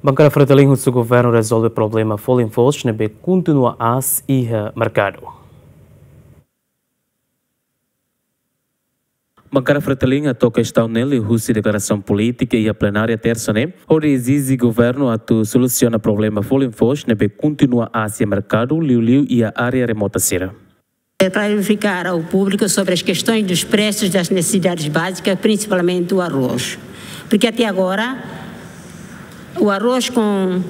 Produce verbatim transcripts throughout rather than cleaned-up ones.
Bankada Fretilin husu governu rezolve problema folin foos ne'ebé kontinua aas iha merkadu. Bankada Fretilin hato'o kestaun ne'e liuhusi deklarasaun polítika iha plenária Tersa ne'e, hodi ezije governu atu solusiona problema folin foos ne'ebé kontinua aas iha merkadu, liuliu iha área remota sira. Clarificar ao público sobre as questões dos preços das necessidades básicas, principalmente o arroz. Porque até agora, o arroz com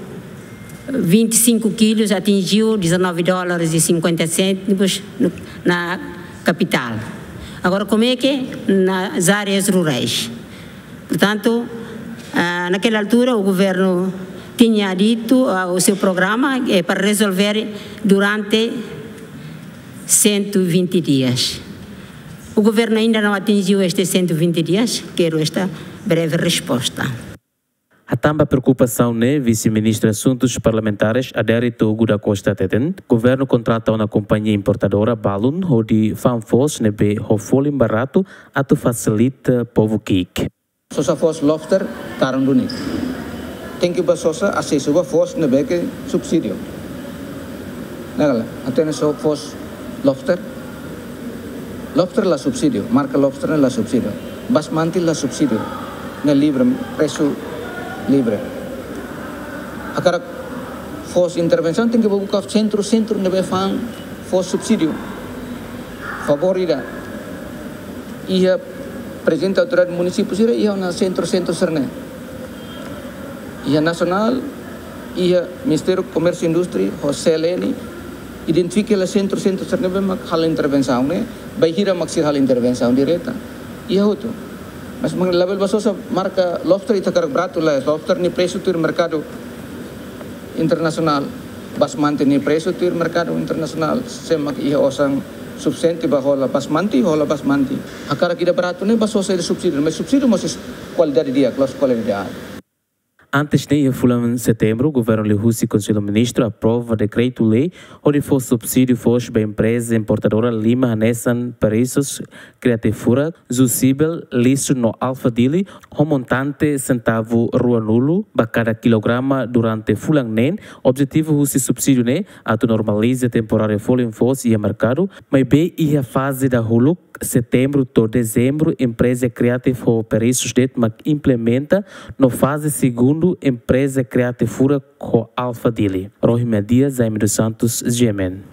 vinte e cinco quilos atingiu dezanove dólares e cinquenta cêntimos no, na capital. Agora, como é que nas áreas rurais? Portanto, ah, naquela altura, o governo tinha dito, ah, o seu programa é para resolver durante cento e vinte dias. O governo ainda não atingiu estes cento e vinte dias? Quero esta breve resposta. Hatán ba preokupasaun ne'e, Vise-Ministru Asuntus Parlamentares, Adérito Rui da Costa hateten, governu kontrata ona kompañia importadora balun hodi fa'an foos ne'ebé ho folin baratu atu fasilita povu ki'ik. Sosa foos lobster karun duni. Tenke ba sosa asesu ba foos ne'ebé ke subsídiu. Ne'e kala, hatene sosa foos lobster. Lobster la subsídiu, marka lobster ne'e la subsídiu. Basmati la subsídiu. Ne'e livre, presu livre. Hakarak foos intervensaun tenke ba buka sentru, sentru ne'ebé fa'an foos subsídiu. Favór ida. Iha prezidente autoridade munisípiu sira iha ona sentru, sentru sira-ne'e. Iha nasionál, iha Ministériu Komérsiu Indústria, ho C L N, identifika hela sentru, sentru sira-ne'ebé mak halo intervensaun ne'e, bainhira mak sira halo intervensaun direta. Iha hotu. Mas meng labele ba sosa marka lobster ita hakarak baratu lae, lobster nia presu tuir merkadu internasionál. Basmati nia presu tuir merkadu internasionál, se mak iha osan sufisiente ba hola basmati, hola basmati. Hakarak ida baratu ne'e ba sosa ida subsídiu, mas subsídiu mós kualidade di'ak, la'ós kualidade di'ak. Antes ne'e, iha fulan setembru, governu liuhusi Konsellu Ministru aprova dekretu-lei hodi fó subsídiu foos ba empreza importadora lima hanesan Perissos, Creative Furak, Jussebel, Lixus no Alpha Dili, ho montante sentavu ruanulu ba kada kilograma durante fulan neen. Objetivu husi subsídiu ne'e atu normaliza temporáriu folin foos iha merkadu, maibé iha faze dahuluk, setembru to'o dezembru, empreza Creative ho Perissos de'it mak implementa, no faze segundu, empreza Creative Furak ho Alpha Dili. Rohima Dias, Jaime dos Santos, G M N.